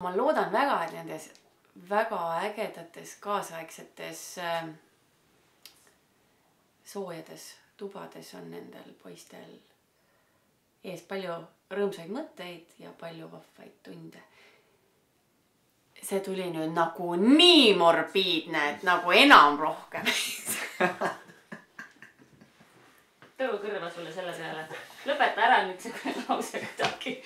Ma loodan väga, et nendes väga ägedates kaasaegsetes soojades tubades on nendel poistel ees palju rõõmsaid mõtteid ja palju vahvaid tunde. See tuli nüüd nagu nii morbiidne, et nagu enam rohkem. Tõu kõrva sulle selle peale. Lõpeta ära nüüd see lause kuidagi.